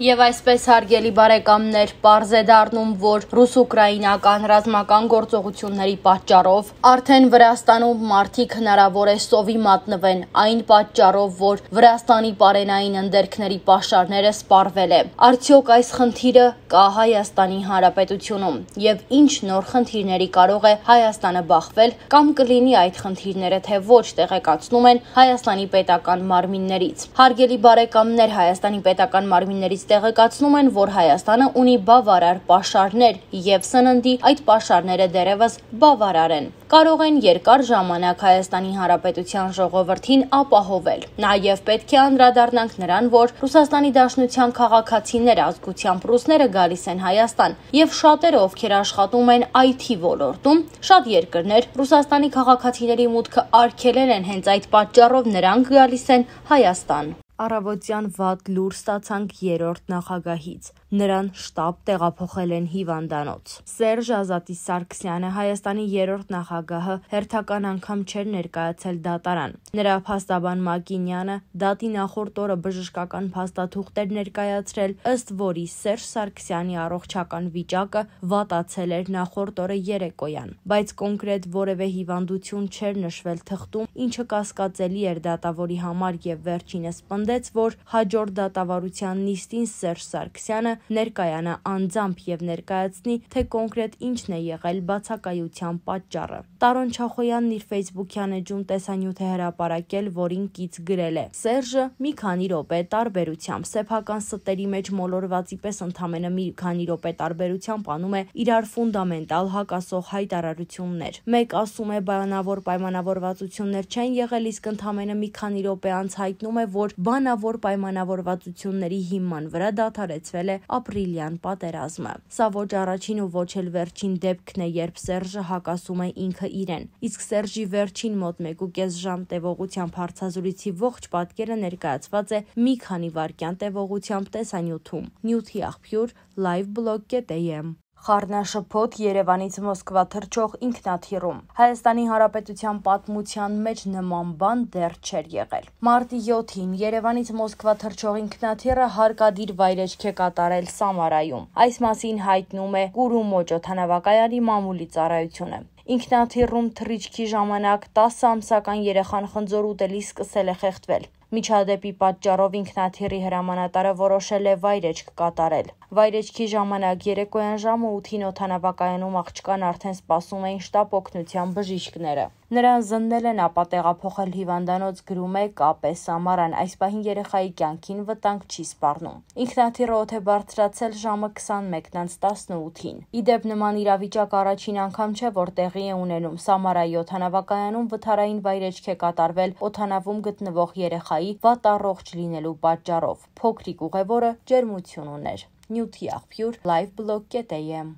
Եվ այսպես հարգելի բարեկամներ, պարզ է դառնում, որ ռուս-ուկրաինական ռազմական գործողությունների պատճառով արդեն Վրաստանում մարդիկ հնարավոր է սովի մատնվեն այն պատճառով, որ Վրաստանի պարենային ընդերքների պաշարները սպառվել է։ Արդյոք այս խնդիրը կա Հայաստանի Հանրապետությունում եւ ինչ նոր խնդիրների կարող է Հայաստանը բախվել կամ կլինի այդ խնդիրները թե ոչ տեղեկացնում են Հայաստանի պետական մարմիններից։ Հարգելի բարեկամներ, Հայաստանի պետական մարմիններից տեղեկացնում են, որ Հայաստանը ունի բավարար պաշարներ եւ սննդի այդ պաշարները դեռևս բավարար են։ Կարող են երկար ժամանակ Հայաստանի Հանրապետության ժողովրդին ապահովել։ Նաեւ պետք է անդրադառնանք նրան, որ Ռուսաստանի Դաշնության քաղաքացիները ազգությամբ ռուսները գալիս են Հայաստան եւ շատերը, ովքեր աշխատում են IT ոլորտում, շատ երկրներ Ռուսաստանի քաղաքացիների մուտքը արգելել են հենց այդ պատճառով նրանք գալիս են Հայաստան։ Առավոտյան վատ լուր ստացանք 3-րդ նախագահից։ Նրան շտաբ տեղափոխել են հիվանդանոց։ Սերժ Ազատի Սարգսյանը, Հայաստանի 3-րդ նախագահը, հերթական անգամ չէր ներկայացել դատարան։ Նրա փաստաբան Մակինյանը դատի նախորդ օրը բժշկական փաստաթուղթ էր ներկայացրել, ըստ որի Սերժ Սարգսյանի առողջական վիճակը վատացել էր նախորդ օրը երեկոյան, բայց կոնկրետ որևէ հիվանդություն չէր նշվել թղթում, ինչը կասկածելի էր դատավորի համար եւ վերջինս պնդեց, որ հաջորդ դատավարության նիստին Սերժ Սարգսյանը ներկայանա անձամբ եւ ներկայացնի, թե կոնկրետ ինչն է եղել բացակայության պատճառը։ Տարոն Չախոյանն իր Facebook-յան էջում տեսանյութ է հրապարակել, որին կից գրել է. Սերժը մի քանի րոպե տարբերությամբ սեփական ստերի մեջ մոլորվածի պես ընդամենը մի քանի րոպե տարբերությամբ անում է իրար ֆունդամենտալ հակասող հայտարարություններ։ Մեկ ասում է բանավոր պայմանավորվածություններ չեն եղել, իսկ ընդամենը մի քանի րոպե անց հայտնում է, որ բանավոր պայմանավորվածությունների հիման վրա դադարեցվել է ապրիլյան պատերազմը։ Սա ոչ առաջին ու ոչ էլ վերջին դեպքն է, երբ Սերժը հակասում է ինքը իրեն։ Իսկ Սերժի վերջին մոտ 1.5 ժամ տևողությամբ հարցազրույցի ողջ պատկերը ներկայացված է մի քանի վայրկյան տևողությամբ տեսանյութում։ Նյութի աղբյուր liveblog.am Խառնաշփոթ Երևանից Մոսկվա թռչող ինքնաթիռում։ Հայաստանի Հանրապետության պատմության մեջ նման բան դեռ չէր եղել։ Մարտի 7-ին Երևանից Մոսկվա թռչող ինքնաթիռը հարկադիր վայրեջք է կատարել Սամարայում։ Այս մասին հայտնում է Կուրումոջ օդանավակայանի մամուլի ծառայությունը։ Ինքնաթիռում թռիչքի ժամանակ 10 ամսական երեխան խնձոր ուտելիս սկսել է խեղդվել։ Միջադեպի պատճառով ինքնաթիռի հրամանատարը որոշել է վայրեջք կատարել։ Վայրեջքի ժամանակ երեկոյան ժամը 8-ին օդանավակայանում աղջկան արդեն սպասում էին շտապ օգնության բժիշկները։ Նրան զննել են, ապա տեղափոխել հիվանդանոց, գրում է ԿՊ Սամարան։ Այս պահին երեխայի կյանքին վտանգ չի սպառնում։ Ինքնաթիռը օդ է բարձրացել ժամը 21:18-ին։ Իդեպ նման իրավիճակ առաջին անգամ չէ, որ տեղի է ունենում։ Սամարայի օդանավակայանում վթարային վայրեջք է կատարվել օդանավում գտնվող երեխայի վատ առողջ լինելու պատճառով։ Փոքրիկ ուղևորը ջերմություն ուներ։ Նյութի աղբյուր liveblog.am